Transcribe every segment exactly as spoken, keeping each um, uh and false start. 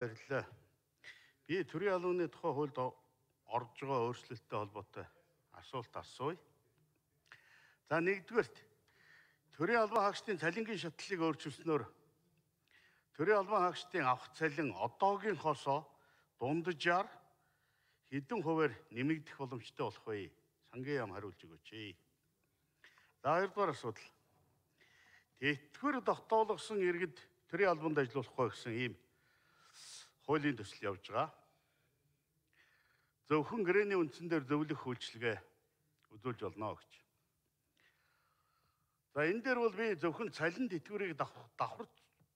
Баярлалаа. Би төрийн албаны тухай хуульд орж байгаа өөрчлөлттэй холбоотой асуулт асууя. За нэгдүгээрт төрийн албан хаагчдын цалингийн шатлалыг өөрчилснөөр төрийн албан хаагчдын авах цалин одоогийнхоосоо дунджаар хэдэн хувиар нэмэгдэх боломжтой болох вэ? Сангийн яам хариулж өгөөч. За хоёрдугаар асуудал. Тэтгэвэр тогтоологсон иргэд төрийн албанд ажиллахгүй гэсэн ийм хуулийн төсөл явж байгаа. Зөвхөн гэрээний үндсэн дээр зөвлөх үйлчилгээ үзүүлж болно гэж. За энэ дээр бол би зөвхөн цалин тэтгэврийг давхар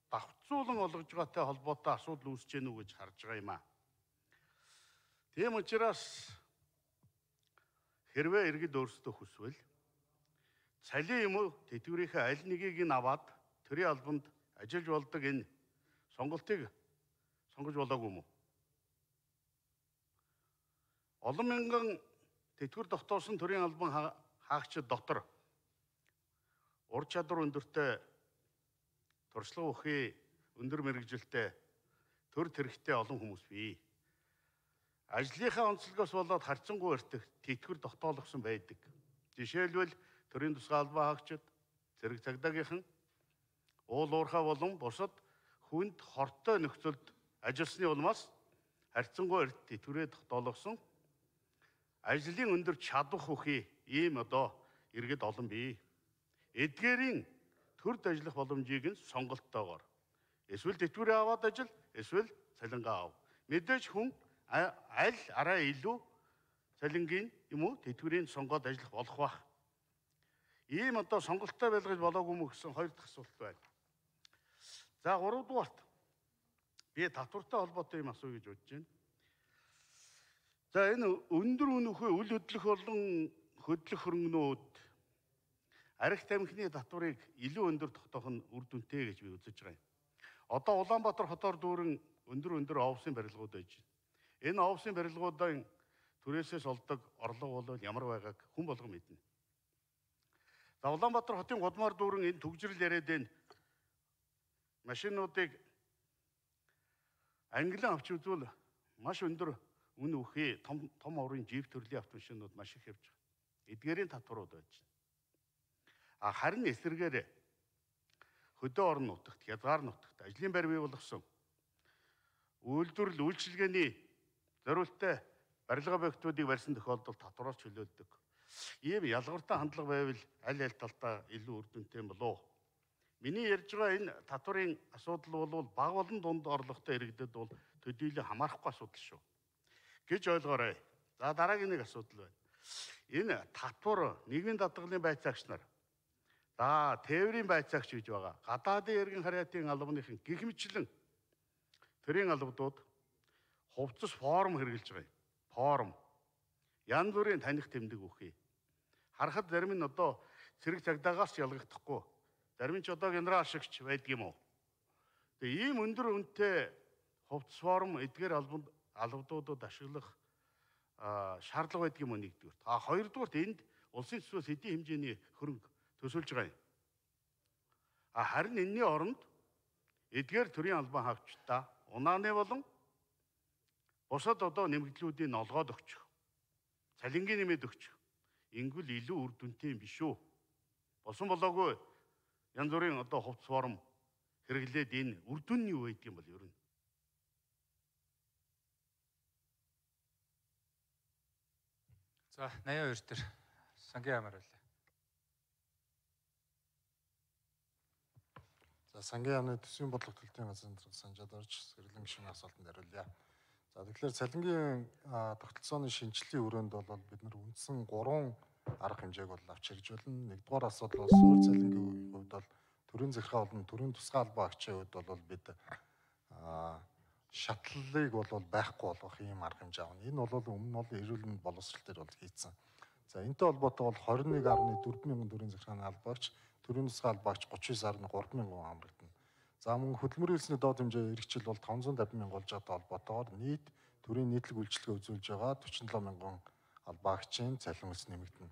давхцуулан олгож байгаатай холбоотой асуудал үүсэж гэнэ үү гэж харж байгаа юм аа. Тийм учраас хэрвээ иргэд өөрсдөө хүсвэл цалин юм уу тэтгэврийнхээ аль нэгийг нь аваад төрийн албанд ажиллаж болдог энэ сонголтыг сонгож болоогүй юм уу? Олон мянган тэтгэвэр тогтоосон төрийн албан хаагчид дотор ур чадвар өндөртэй, туршлага ухаан өндөр мэргэжилтэй, төр тэрэгтэй олон хүмүүс бий. Ажлынхаа онцлогоос болоод харьцангуй өртөх тэтгэвэр тогтоологсон байдаг. Жишээлбэл төрийн тусгай албан хаагчид, зэрэг цагдаагийнхан, уул уурхай болон бусад хүнд хортой нөхцөлд ажилласны улмаас харьцангуй эрт тэтгэврээ тогтоологсон ажлын өндөр чадвах ухаан ийм одоо иргэд олон бий. Эдгээрийн төрд ажиллах боломжийг нь сонголттойгоор эсвэл тэтгэврээ аваад ажил, эсвэл цалингаа ав. Мэдээж хүн аль арай илүү цалингийн юм уу тэтгэврийн сонгоод ажиллах болох бах. Ийм одоо сонголттой байлгаж болоогүй мө гэсэн хоёр дахь асуулт байна. За гуравдугаарт би татвартай холбоотой юм асууя гэж бодож байна. За энэ өндөр үнэхүй үл хөдлөх болон хөдлөх хөрөнгөнүүд арх тамхины татварыг илүү өндөр тогтоох нь үр дүнтэй гэж би үзэж байгаа юм. Одоо Улаанбаатар хотоор дүүрэн өндөр өндөр овсын барилгууд байж байна. Энэ овсын барилгуудын түрээсээс олдог орлого бол ямар байгааг хүн болгон мэднэ. За Улаанбаатар хотын гудмаар дүүрэн энэ түгжрэл яриад байна. Машинуудыг англиан авч үзвэл маш өндөр үн үхээ том том оврын жип төрлийн автомашинууд маш их явж байгаа. Эдгээрийн татварууд байж байна. А харин эсэргээр хөдөө орон нутагт, хязгаар нутагт ажлын байр бий болгосон үйлдвэрлэл үйлчилгээний зориулттай барилга объектуудыг барьсан тохиолдолд татвараас чөлөөлдөг. Ийм ялгартай хандлага байвал аль аль талдаа илүү үр дүнтэй болов. Миний ярьж байгаа энэ татварын асуудал бол бага болон дунд орлоготой иргэдэд бол төдийлөн хамаарахгүй асуудал шүү гэж ойлгоорой. За дараагийн нэг асуудал байна. Энэ татвар нийгмийн даатгалын байцаагч нар, за тээврийн байцаагч гэж байгаа. Гадаадын эргэн харьяатын албаныхын гэх мэтлэн төрийн албадууд хувцас форм хэрэгжилж байгаа юм. Форм. Янз бүрийн таних тэмдэг үхий. Харахад зарим нь одоо цэрэг цагдаагаас ч ялгахдахгүй. Зарим нь ч одоо генерал шигч байдаг юм уу? Тэгээ ийм өндөр үнэтэй хувцас форм эдгээр албанд албадуудад ашиглах шаардлага байдаг юм уу нэгдүгээр. А хоёрдугаарт энд улсын төсвөөс хэдийн хэмжээний хөрөнгө төсөлж байгаа юм. А харин энэний оронд эдгээр төрийн албан хаагчдаа унааны болон бусад одоо нэмэгдлүүдийг олгоод өгчих. Цалингийн нэмэд өгчих. Ингүүл илүү үр дүнтэй юм биш үү? Босон болоогүй янз бүрийн одоо хувцас форм хэрэглээд энэ үр дүн нь юу байдаг юм бол ер нь. За наяа хоёр төр сангийн ямар байлаа. За сангийн яамны төсвийн бодлого төлтийн газрын санжаад орж сэрлэн гишүүний асуултанд хариулъя. За тэгэхээр цалингийн тогтолцооны шинжиллийн хүрээнд бол бид нар үндсэн гурван арга хэмжээг бол авч хэрэгж байна. Нэгдүгээр асуудал бол суурь цалингийн хувьд бол төрийн захиргаа болон төрийн тусгай албан хаагчийн хувьд бол бид шатлалыг бол байхгүй болгох ийм арга хэмжээ авна. Энэ бол өмнө нь бол эрүүл мэнд боловсрол төр бол хийцэн. За энэтэй холбоотой бол двадцать нэг нөлөө дөрвөн мянган төрийн захиргааны албаагч, төрийн тусгай албаагч тридцать девять нөлөө три мянган хамрагдана. За мөн хөдөлмөрийн хэлсний доод хэмжээ эрхчил бол тавнзан тавин мянга болж байгаа холбоотойгоор нийт төрийн нийтлэг үйлчилгээ үзүүлж байгаа forty seven мянган албаагчийн цалин өс нэмэгдэнэ.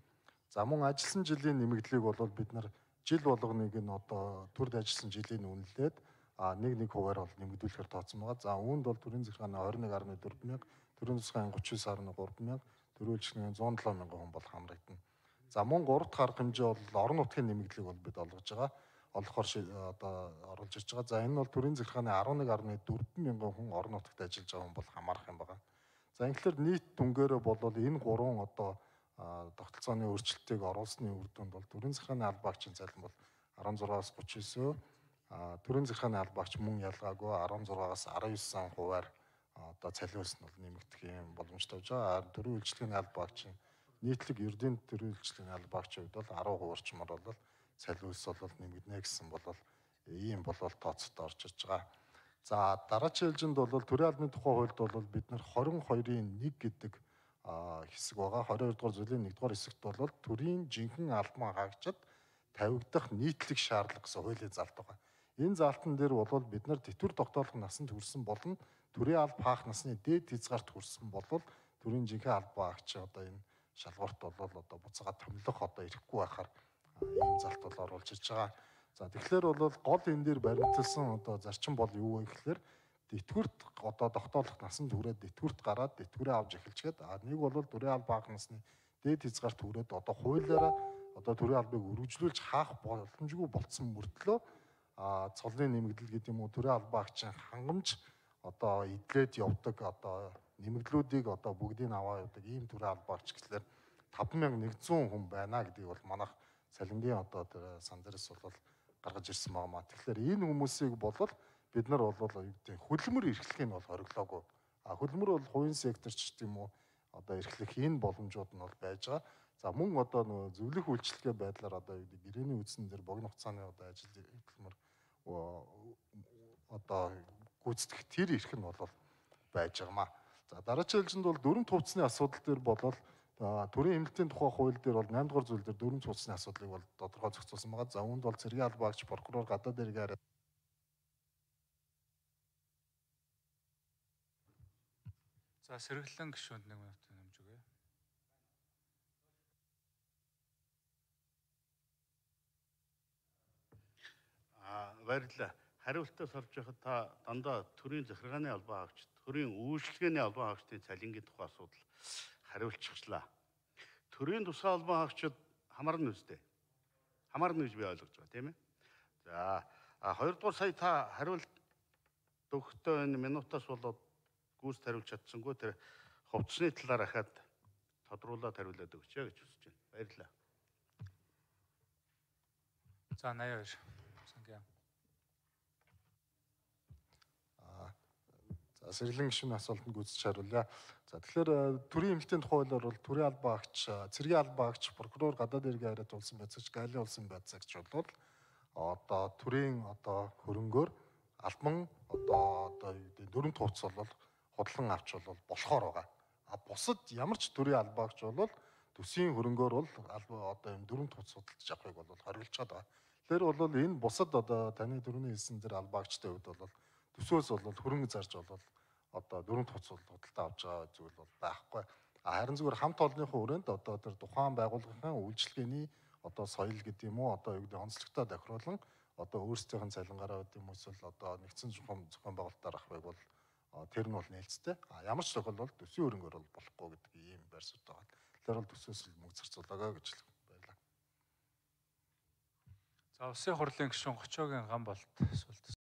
За мөн ажилласан жилийн нэмэгдлийг бол бид нар жил болгоныг нь одоо төрд ажилласан жилийн үнэлээд а нэг нэг хувиар бол нэмэгдүүлэхээр тооцсон байгаа. За үүнд бол төрийн захиргааны двадцать один гаруй дөрвөн мянга, төрийн тусгай тридцать девять гаруй три мянга, төрийн үйлчлэгийн one oh seven мянган хүн бол хамрагдана. За мөн гурав дахь арга хэмжээ бол орон нутгийн нэмэгдлийг бол бид олгож байгаа. Олохоор одоо оруулж ирж байгаа. За энэ бол төрийн захиргааны eleven гаруй four мянган хүн орон нутагт ажиллаж байгаа хүн бол хамаарах юм байна. За ингээр нийт дүнгээрээ бол энэ гурван одоо тогтолцооны өөрчлөлтийг оруулсны үр дүнд бол төрийн захиргааны албан багчийн цалин бол sixteen-аас thirty-nine, төрийн захиргааны албан багч мөн ялгаагүй sixteen-аас nineteen хувиар одоо цалиулс нь бол нэмэгдэх юм боломжтой байж байгаа. Төрийн үйлчлэгийн албан багчийн нийтлэг ердийн төрийн үйлчлэгийн албан багчийн хувьд бол ten хувиарчмаар бол цалиулс бол нэмэгдэнэ гэсэн бол ийм бол тооцоод орж ирж байгаа. За дараагийн ээлжинд бол төрийн албаны тухай хуульд бол бид нар twenty-two-ийн one гэдэг хэсэг байгаа. twenty-two дугаар зүйлийн one дугаар хэсэгт бол төрийн жинхэнэ албан хаагчид тавигдах нийтлэг шаардлага гэсэн хуулийн залт байгаа. Энэ залтан дээр бол бид нар тэтгэвэр тогтоолох насанд хүрсэн болон төрийн алба хаах насны дээд хязгаарт хүрсэн бол төрийн жинхэнэ албан хаагч одоо энэ шалгуурт бол одоо буцаага томилох одоо ирэхгүй байхаар ийм залт бол оруулж ирж байгаа. За тэгэхээр бол гол энэ дээр баримталсан одоо зарчим бол юу вэ гэхээр тэтгэврт одоо тогтоолох насанд хүрээд тэтгэврт гараад тэтгэврээ авч эхэлчихэд а нэг бол төрийн албан хаах насны дээд хязгаарт хүрээд одоо хуулиараа одоо төрийн албыг өргөжлүүлж хаах боломжгүй болцсон мөртлөө а цолны нэмэгдэл гэдэг юм уу төрийн албан хаагчийн хангамж одоо идлээд явдаг одоо нэмэгдлүүдийг одоо бүгдийг аваа явдаг ийм төрийн албан хаагч гэхлээр five thousand one hundred хүн байна гэдгийг бол манайх цалингийн одоо тэр сан дээрээс бол гаргаж ирсэн байгаа маа. Тэгэхээр энэ хүмүүсийг бол бид нар бол юу гэдэг хөдөлмөр эрхлэхийг бол хориглоогүй. А хөдөлмөр бол хувийн секторч гэдэг юм уу одоо эрхлэх энэ боломжууд нь бол байж байгаа. За мөн одоо нөгөө зөвлөх үйлчлэгээ байдлаар одоо юу гэдэг гэрээний үдсэн дээр богино хугацааны одоо ажил хөдөлмөр одоо гүйцэтгэх тэр эрх нь бол байж байгаа маа. За дараагийн ээлжинд бол дөрвөн төвцний асуудал дээр болол төрийн эмнэлтийн тухай хууль дээр бол eight дугаар зүйл дээр дөрвөн төвцний асуудлыг бол тодорхой зохицуулсан байгаа. За үүнд бол цэргийн албан хаагч, прокурор, гадаад иргэн арай. За сэргэлэн гишүүнд нэг минут нэмж өгье. Аа баярлалаа. Хариултаас орж байхад та дандаа төрийн захиргааны албан хаагч, төрийн үйлчлэгээний албан хаагчдын цалингийн тухай асуудал хариулчихлаа. Төрийн тусгай албан хаагчид хамаарна үстэй. Хамаарна гэж би ойлгож байгаа тийм ээ. За хоёрдугаар сая та хариулт өгөхдөө энэ минутаас болоод гүйцэд хариулж чадсангүй тэр хувцсны талаар ахаад тодруулаад хариулаад өгч яа гэж хүсэж байна. Баярлалаа. За eighty-two. Сангийн. За сэргэлэн гишүүний асуултанд гүйцэж хариулъя. За тэгэхээр төрийн эмнэлтийн тухай хуулиар бол төрийн албан хаагч, цэргийн албан хаагч, прокурор, гадаад иргэн арайт улсын байцаагч, галийн улсын байцаагч бол одоо төрийн одоо хөрөнгөөр албан одоо одоо юу гэдэг дөрвөн тууц бол худлан авч бол болохоор байгаа. А бусад ямар ч төрийн албан хаагч бол төсвийн хөрөнгөөр бол одоо юм дөрвөн тууц судалж авахыг бол хориглож байгаа. Тэгэхээр бол энэ бусад одоо таны төрөний хэлсэн зэрэг албан хаагчдын хувьд бол төсвөөс бол хөрөнгө зарж бол одоо дөрвөн тууц худалдаа авч байгаа зүйл бол байхгүй. Харин зүгээр хамт олонныхоо хүрээнд одоо тэр тухайн байгууллагын үйлчлэгээний одоо соёл гэдэг юм уу одоо юу гэдэг онцлогтой тохируулан одоо өөрсдийнх нь цалингаараа гэдэг юм эсвэл одоо нэгдсэн зохион зохион байгуулалтаар авахыг бол тэр нь бол нээлттэй. Ямар ч тохиолдолд төсвийн хөрөнгөөр бол болохгүй гэдэг ийм байр суурь байгаа. Тэгэхээр бол төсвөөс мөнгө зарцуулаагаа гэж баярлалаа. За улсын хурлын гишүүн Гочоогийн ган болт асуулт.